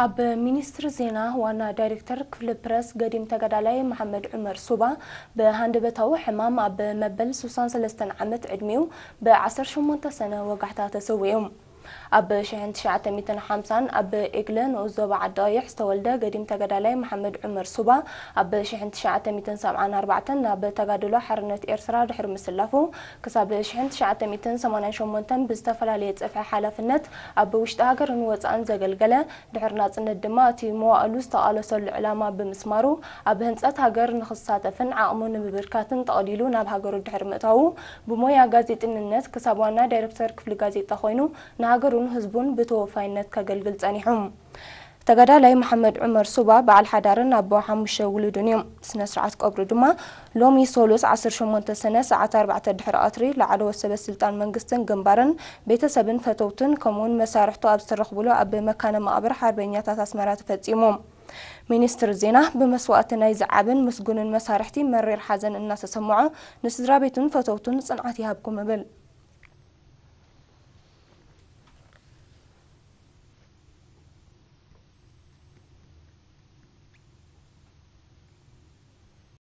ኣብ ሚኒስትሪ ዜና ዋና ዳይሬክተር ክፍሊ ፕረስ ገዲም ተጋዳላይ መሓመድ ዑመር ሱባ ብሃንደበታዊ ሕማም ኣብ መበል ስሳን ሰለስተን ዓመት ዕድሚኡ ብዓሰርተ ሸሞንተ ሰነ ወጋሕታ ተሰዊኡ። ኣብ ሽሕን ትሽዓተ ሚእትን ሓምሳን ኣብ ኤግለ ንኡስ ዞባ ዓዲ ቀይሕ ዝተወልደ ገዲም ተጋዳላይ መሓመድ ዑመር ሱባ ኣብ ሽሕን ትሽዓተ ሚእትን ሰብዓን ኣርባዕተን ናብ ተጋድሎ ሓርነት ኤርትራ ድሕሪ ምስላፉ ክሳብ ሽሕን ትሽዓተ ሚእትን ሰማንያን ሸሞንተን ብዝተፈላለየ ጽፍሒ ሓላፍነት ኣብ ውሽጢ ሃገርን ወጻእን ዘገልገለ ድሕሪ ናጽነት ድማ እቲ መዋእሉ ዝተቓለሰሉ ዕላማ ብምስማሩ ኣብ ህንጸት ሃገር ንኽሳተፍን ዓቕሙ ንምብርካትን ጠቕሊሉ ናብ ሃገሩ ድሕሪ ምእታዉ ብሞያ ጋዜጠኝነት ክሳብ ዋና ዳይሬክተር ክፍሊ ጋዜጣ ኮይኑ ንሃገሩን ህዝቡን ብተወፋይነት ከገልግል ጸኒሑ። ተጋዳላይ መሓመድ ዑመር ሱባ በዓል ሓዳርን ኣቦ ሓሙሽተ ውሉድን እዩ። ስነ ስርዓት ቀብሩ ድማ ሎሚ ሶሉስ ዓሰርተ ሸሞንተ ሰነ ሰዓት ኣርባዕተ ድሕሪ ቀትሪ ላዕለዎት ሰበ ስልጣን መንግስትን ግንባርን ቤተሰብን ፈተውትን ከምኡውን መሳርሕቱ ኣብ ዝተረኽብሉ ኣብ መካነ መቓብር ሓርበኛታት ኣስመራ ተፈጺሙ። ሚኒስትሪ ዜና ብመስዋእቲ ናይዚ ዓብን ምስጉንን መሳርሕቲ መሪር ሓዘን እናተሰምዖ ንስድራ ቤቱን ፈተውቱን ጽንዓት ይሃብኩም እብል።